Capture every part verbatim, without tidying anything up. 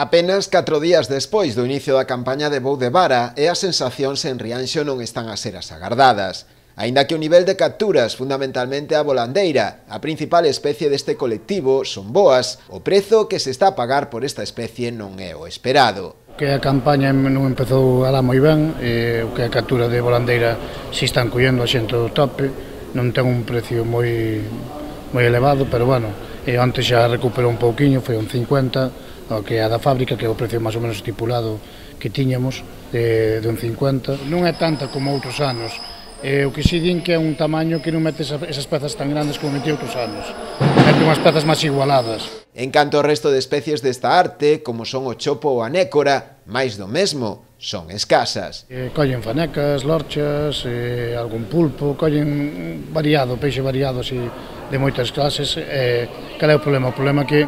Apenas catro días despois do inicio da campaña de voo de vara e as sensacións en Rianxo non están a ser as agardadas. Aínda que o nivel de capturas, fundamentalmente a volandeira, a principal especie deste colectivo, son boas, o prezo que se está a pagar por esta especie non é o esperado. Que a campaña non empezou alá moi ben, e o que a captura de volandeira si están collendo a xente do tope, non ten un precio moi moi elevado, pero bueno, e antes xa recuperou un pouquiño, foi un cincuenta, o que é a da fábrica, que é o precio máis ou menos estipulado que tiñamos, de, de un cincuenta. Non é tanta como outros anos, e o que si din que é un tamaño que non mete esas pezas tan grandes como metía outros anos, mete unhas pezas máis igualadas. En canto ao resto de especies desta arte, como son o chopo ou a nécora, máis do mesmo, son escasas. Eh, collen fanecas, lorchas, eh, algún pulpo, collen variado, peixe variado así, de moitas clases. Eh, cal é o problema? O problema é que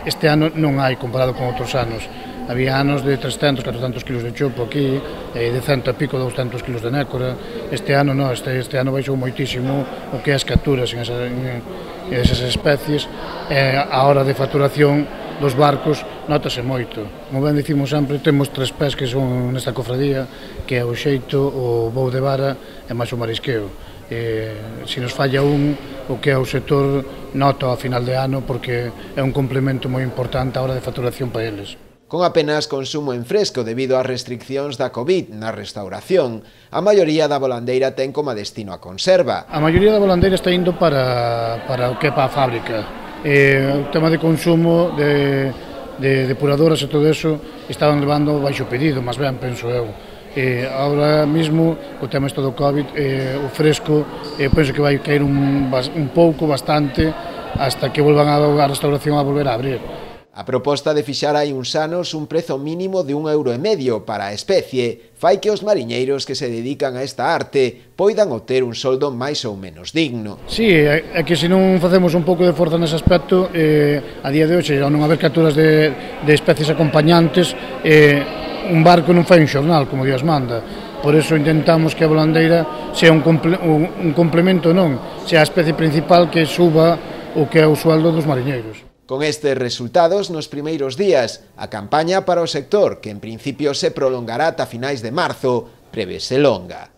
este ano non hai comparado con outros anos. Había anos de trescentos, catrocentos kilos de chopo aquí, e de cento e pico, douscentos kilos de nécora. Este ano non, este, este ano baixou moitísimo o que é as capturas en, esa, en, en esas especies. E a hora de facturación dos barcos notase moito. Como ben dicimos sempre, temos tres pés que son nesta cofradía, que é o xeito, o voo de vara e máis o marisqueo. Eh, se nos falla un, o que é o sector nota ao final de ano, porque é un complemento moi importante a hora de facturación para eles. Con apenas consumo en fresco debido ás restriccións da COVID na restauración, a maioría da volandeira ten como destino a conserva. A maioría da volandeira está indo para, para o que é para a fábrica. Eh, o tema de consumo de, de depuradoras e todo eso estaban levando baixo pedido, máis ben, penso eu. Eh, ahora mismo, o tema isto do COVID, eh, o fresco, eh, penso que vai caer un, un pouco, bastante, hasta que volvan a, a restauración a volver a abrir. A proposta de fixar hai uns anos un prezo mínimo de un euro e medio para a especie fai que os mariñeiros que se dedican a esta arte poidan obter un soldo máis ou menos digno. Sí, é que se non facemos un pouco de forza nese aspecto, eh, a día de hoxe, ao non haber capturas de, de especies acompañantes, eh, un barco non fai un xornal, como Dios manda. Por eso intentamos que a volandeira sea un, comple un, un complemento, non, sea a especie principal que suba o que é o sueldo dos mariñeiros. Con estes resultados, nos primeiros días, a campaña para o sector, que en principio se prolongará ata finais de marzo, prevese longa.